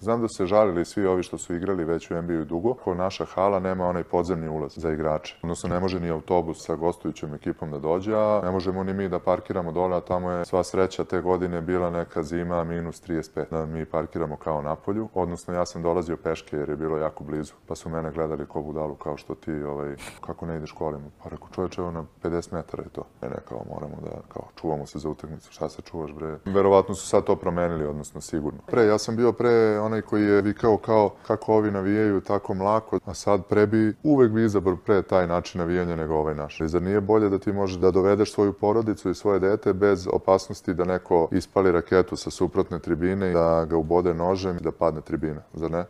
Znam da se žalili svi ovi što su igrali već u NBA dugo, ko naša hala nema onaj podzemni ulaz za igrače. Odnosno ne može ni autobus sa gostujućom ekipom da dođe, a ne možemo ni mi da parkiramo dole, a tamo je sva sreća te godine bila neka zima minus 35. Da mi parkiramo kao napolju, odnosno ja sam dolazio peške jer je bilo jako blizu, pa su mene gledali ko budalu kao što ti, kako ne ideš kolima. Pa rekao, čovječe, evo na 50 metara je to. Ne, kao moramo da, kao čuvamo se za utakmicu, šta se čuvaš bre? Verovatno su sad to promenili, odnosno sigurno. Ja sam bio pre onaj koji je vikao kao kako ovi navijaju tako mlako, a sad uvek bi izabrao pre taj način navijanja nego ovaj naš. Zar nije bolje da ti možeš da dovedeš svoju porodicu i svoje dete bez opasnosti da neko ispali raketu sa suprotne tribine i da ga ubode nožem i da padne tribina, zar ne?